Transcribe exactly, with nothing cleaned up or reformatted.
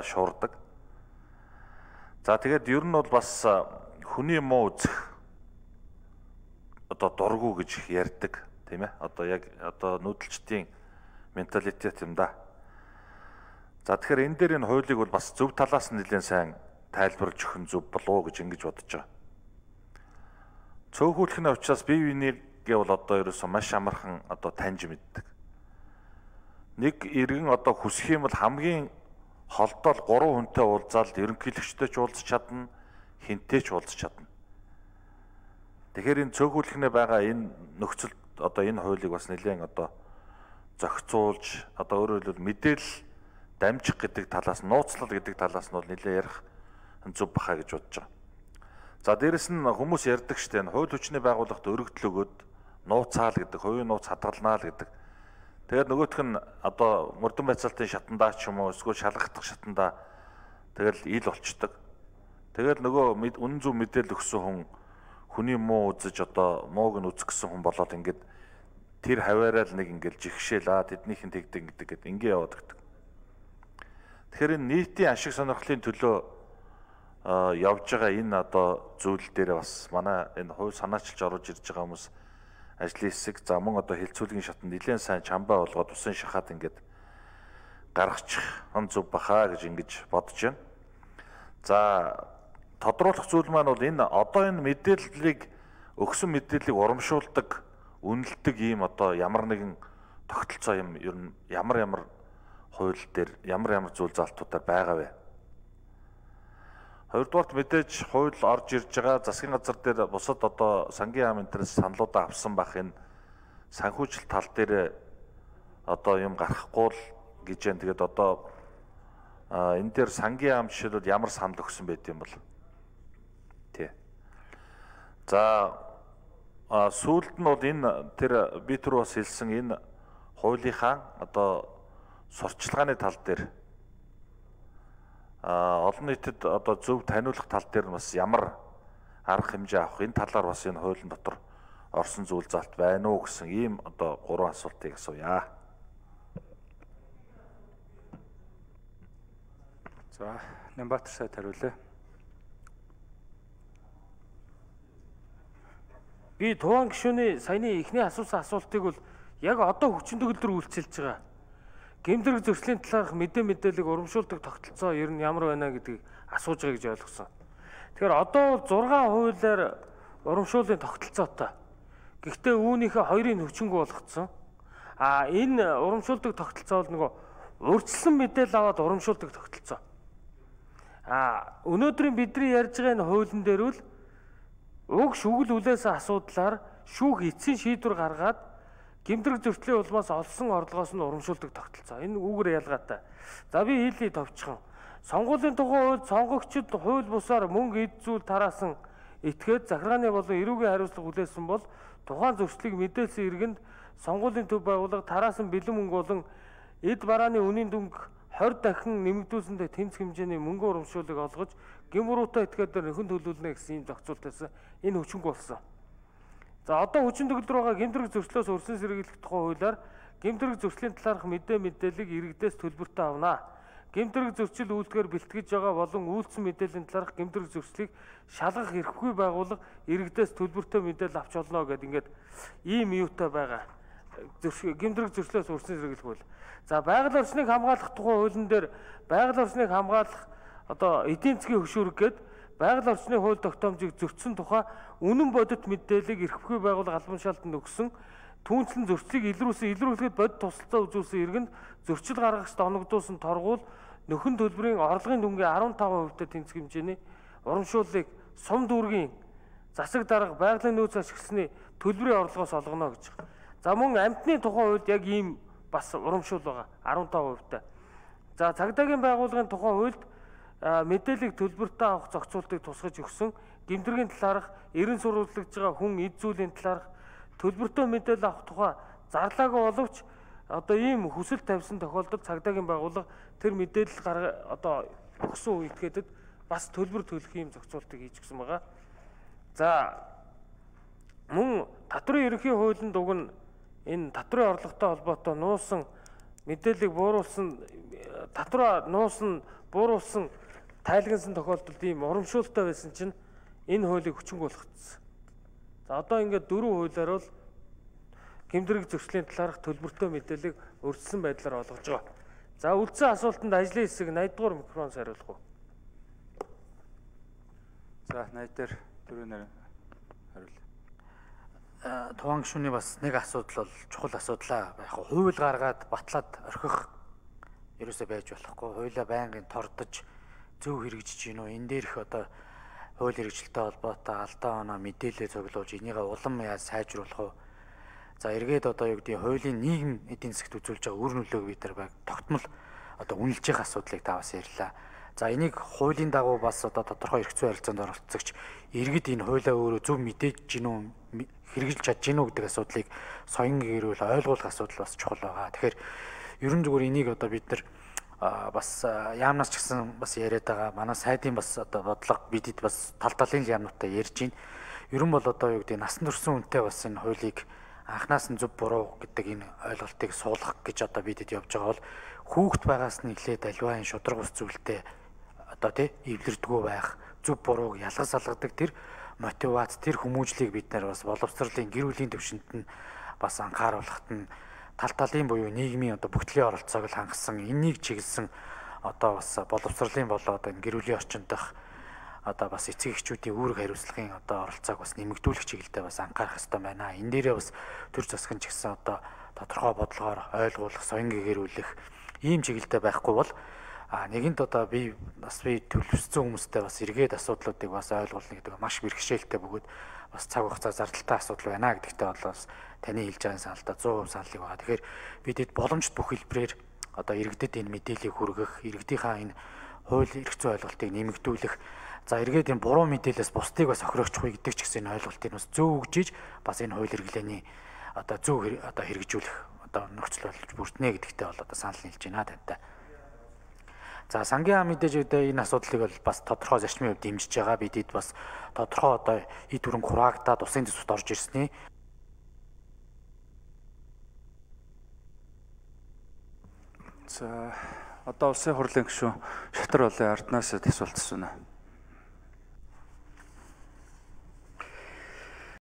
шуурдаг. За тэгээд ер нь бол бас хүний муу үзэх одоо дургу гэж ярьдаг тийм ээ. Одоо яг одоо нүүдэлчдийн менталитет юм да. За тэгэхээр энэ дээр энэ хуулийг бол бас зөв талаас нь нэлээд сайн тайлбарлаж өгөх нь зөв болов уу гэж ингэж бодож байгаа. Цөөхүүлэхний учраас бие бинийгээ бол одоо ерөөсөө маш амархан одоо таньж мэддэг. Нэг иргэн одоо хүсэх юм бол хамгийн холдол гурван хүнтэй уулзаад ерөнхийлөгчтэй ч уулзч чадна, хинтэй ч уулзч чадна. Тэгэхээр энэ цөөхүүлэхнээ байгаа энэ нөхцөл одоо энэ хуулийг бас нэлээд одоо зохицуулж одоо өөрөөр хэлбэл мэдээлэл дамжих гэдэг талаас, нууцлал гэдэг талаас нь бол нэлээд ярих зөв баха гэж бодож байгаа. За дээрэс нь хүмүүс ярьдаг штэ энэ хууль хүчний байгууллагт өргөдөл өгөөд нууцаал гэдэг, хувийн нууц хадгалнаа л гэдэг. Тэгээд нөгөөх нь одоо мөрдөн байцаалтын шатандаа ч юм уу эсвэл шалгагдах шатандаа тэгэл ил болчдөг. Тэгэл нөгөө үнэн зөв мэдээлэл өгсөн хүн хүний муу үзэж одоо мууг нь үзгэсэн хүн болоод ингээд тэр хаваараа л нэг ингээд жигшээл аа тэднийхэн тэгдэг гэдэг гээд ингээ яваад гэдэг. Тэгэхээр энэ нийтийн ашиг сонирхлын төлөө явж байгаа энэ одоо зүйл дээр бас манай энэ хувь санаачилж оруулж ирж байгаа хүмүүс ажлын хэсэг за мөн одоо хилцүүлгийн шатанд нэлээд сайн чамбаа болгоод усан шахаад ингээд гаргачих он зөв баха гэж ингэж бодож байна. За тодруулах зүйл маань бол энэ одоо энэ мэдээллийг өгсөн мэдээллийг урамшуулдаг, үнэлдэг ийм одоо ямар нэгэн тогтолцоо юм ер нь ямар ямар хууль дээр ямар ямар зүйл залтуудаар байгаа вэ? Хоёрдугаарт мэдээж хууль орж ирж байгаа засгийн газар дээр бусад одоо сангийн яам энтерс саналуудаа авсан бах энэ санхүүжил тал дээр одоо юм гарахгүй л гэж байна. Тэгээд одоо энэ дээр сангийн яам жишээлбэл ямар санал өгсөн байт юм бол тий. За сүүлд нь бол энэ тэр би түр бас хэлсэн энэ хуулийнхаа одоо сурчлагын тал дээр а олон нийтэд одоо зөв таниулах тал дээр бас ямар арга хэмжээ авах энэ талаар бас энэ хуулийн дотор орсон зүйл залт байна уу гэсэн ийм одоо гурван асуултыг асууя. За, Нямбатар сайд хариулъя. Би Туван гишүүний саяны эхний асуусан асуултыг бол яг одоо хүчин төгөлдөр үйлчилж байгаа. Гэмтрэг зөрчлийн талаарх мэдээ мэдээллийг урамшуулдаг тогтолцоо ер нь ямар байна гэдгийг асууж байгаа гэж ойлгосон. Тэгэхээр одоо зургаан хуулиар урамшууллын тогтолцоотой. Гэхдээ үүнийхээ хоёрын хүчингү болгоцсон. А энэ урамшуулдаг тогтолцоо бол нөгөө урьдчилан мэдээлэл аваад урамшуулдаг тогтолцоо. А өнөөдрийн бидний ярьж байгаа энэ хуулийн дээр бол уг шүгэл үлээсэн асуудлаар шүүх эцсийн шийдвэр гаргаад гэмтрэг зөрчлийн улмаас олсон орлогоос нь урамшуулдаг тогтолцоо. Энэ үүгээр ялгаатай. За би хэлий товчхон. Сонгуулийн тухай хууль сонгогчид хууль бусаар мөнгө эд зүйл тараасан этгээд захиргааны болон эрүүгийн хариуцлага хүлээсэн бол тухайн зөрчлийг мэдээлсэн иргэнд сонгуулийн төв байгууллага тараасан бэлэн мөнгө болон эд барааны үнийн дүнг хорь дахин нэмэгдүүлсэндээ тэнцэх хэмжээний мөнгө урамшууллыг олгож гэмбуруутай этгээдээр нөхөн төлөвлөнө гэсэн ийм зохицуултаас энэ хүчинг болсон. За одоо хүчин төгөлдөр байгаа гэмтрэг зөрчлөөс өрсөн сэргийлэх тухай хуулиар гэмтрэг зөрчлийн талаарх мэдээ мэдээллийг иргэдээс төлбөртэй авна. Гэмтрэг зөрчил үйлдгээр бэлтгэж байгаа болон үйлдсэн мэдээллийн талаарх гэмтрэг зөрчлийг шалгах эрхгүй байгууллага иргэдээс төлбөртэй мэдээлэл авч олно гэдэг ингээд ийм юутай байгаа. Гэмтрэг зөрчлөөс өрсөн сэргийлэх хууль. За байгаль орчныг хамгаалах тухай хуулийн дээр байгаль орчныг хамгаалах одоо эдийн засгийн хөшүүрэг гээд байгаль орчны хууль тогтоомжийг зөрчсөн тухай үнэн бодит мэдээллийг эрхгүй байгууллага албан шаалтанд өгсөн түүнчлэн зөрчлийг илрүүлсэн илрүүлэхэд бодит тусалцаа үзүүлсэн иргэнд зөрчил гаргагчд оногдуулсан торгуул нөхөн төлбөрийн орлогын дүнгийн арван таван хувь-тай тэнцэх хэмжээний урамшууллыг сум дүүргийн засаг дарга байгалийн нөөц ашигласны төлбөрийн орлогоос олгоно гэж байна. За мөн амьтны тухай хууль яг ийм бас урамшуул байгаа арван таван хувь-тай. За цагдаагийн байгууллагын тухай хуульд мэдээллийг төлбөртэй авах зохицуултыг тусгаж өгсөн гэмтргийн талаарх эрен сурвалжлагж байгаа хүн эд зүйлийн талаарх төлбөртэй мэдээлэл авах тухай зарлаагүй боловч одоо ийм хүсэл тавьсан тохиолдолд цагдаагийн байгууллага тэр мэдээлэл гарга одоо өгсөн үетэд бас төлбөр төлөх ийм зохицуултыг хийж өгсөн байгаа. За мөн татврын ерөнхий хуулинд уг нь энэ татврын орлоготой холбоотой нуусан мэдээллийг бууруулсан татвараа нуусан, бууруулсан, тайлагнсан тохиолдолд ийм урамшуулттай байсан чинь энэ хуулийг хүчинг болгоцсон. За одоо ингээд дөрвөн хуулиар бол гэмтрэг зөрчлийн талаарх төлбөртэй мэдээллийг өрсөлдсөн байдлаар олгож байгаа. За үлдсэн асуултанд ажлын хэсэг найд дугаар микрофон хариулах уу? За найд дээр дөрөв хариул. Тухайн гишүүний бас нэг асуудал бол чухал асуудлаа. Яг хууль гаргаад батлаад орхих ерөөсөө байж болохгүй. Хуулиа байнгын тордож зөв хэрэгжиж гинөө. Энэ дээрх одоо хууль хэрэгжилтэй холбоотой алдаа оноо мэдээлэл цуглуулж энийгээ улам яаж сайжруулах вэ? За эргээд одоо юу гэдэг хуулийн нийгэм эдийн засгт үзүүлж байгаа үр нөлөөг бид нар баг тогтмол одоо үнэлж байгаа асуудлыг та бас ярьлаа. За энийг хуулийн дагуу бас одоо тодорхой эрх зүйн харилцаанд оролцогч иргэд энэ хуулиа өөрөө зөв мэдээж гинүү хэрэгжилж чадж гинүү гэдэг асуудлыг соён гэрүүл ойлгуулах асуудал бас чухал байгаа. Тэгэхээр ерөн зүгээр энийг одоо бид нар бас яамнаас ч гэсэн бас яриад байгаа. Манай сайдын бас одоо бодлого бидэд бас тал талын яамнуудтай ярьж байна. Ерөн бол одоо юу гэдэг насан турш үнэтэй бас энэ хуулийг анхнаас нь зөв буруу гэдэг энэ ойлголтыг суулгах гэж одоо бидэд явж байгаа бол хүүхэд байгаас нь эхлээд аливаа энэ шудраг ус зүйлтэй одоо тий эвлэрдэггүй байх, зөв бурууг ялгаж салгадаг тэр мотивац, тэр хүмүүжлийг бид нар бас боловсролын гэр бүлийн төвшөнд нь бас анхааруулахад нь тал талын буюу нийгмийн одоо бүгдлийн оролцоог л хангасан энийг чиглэсэн одоо бас боловсролын болоод энэ гэр бүлийн орчинд дах одоо бас эцэг эхчүүдийн үүрэг хариуцлагын одоо оролцоог бас нэмэгдүүлэх чиглэлдээ бас анхаарах хэрэгтэй байна. Энэ дээрээ бас төр засгийн ч гэсэн одоо тодорхой бодлогоор ойлгуулах, соён гэгэрүүлэх ийм чиглэлдээ байхгүй бол а нэгэнт одоо би бас би төлөвлөсөн хүмүүстэй бас эргээд асуудлуудыг бас ойлгуулна гэдэг маш бэрхшээлтэй бөгөөд бас цаг хугацаа зардалтай асуудал байна гэдэгтээ бол бас таны хэлж байгаа саналтай сто процент саналыг байгаа. Тэгэхээр бидэд боломжит бүх хэлбэрээр одоо иргэдэд энэ мэдээллийг хүргэх, иргэдийнхаа энэ хууль эрх зүйн ойлголтыг нэмэгдүүлэх, за эргээд энэ буруу мэдээлэлээс бусдыг бас охирогчгүй гэдэг ч гэсэн энэ ойлголтыг бас зөв өгжиж бас энэ хууль хэрэглээний одоо зөв одоо хэрэгжүүлэх одоо нөхцөл болж бүрднэ гэдэгтээ бол одоо санал нийлж байна тантай. За сангийн мэдээж үедээ энэ асуудлыг бол бас тодорхой зарчмын хувьд дэмжиж байгаа. Бидэд бас тодорхой одоо эд хөрөнгө хураагдаад усын төсөвт орж ирсний За одоо улсын хурлын гишүүн Шатар болын Арднаас асуулт асууна.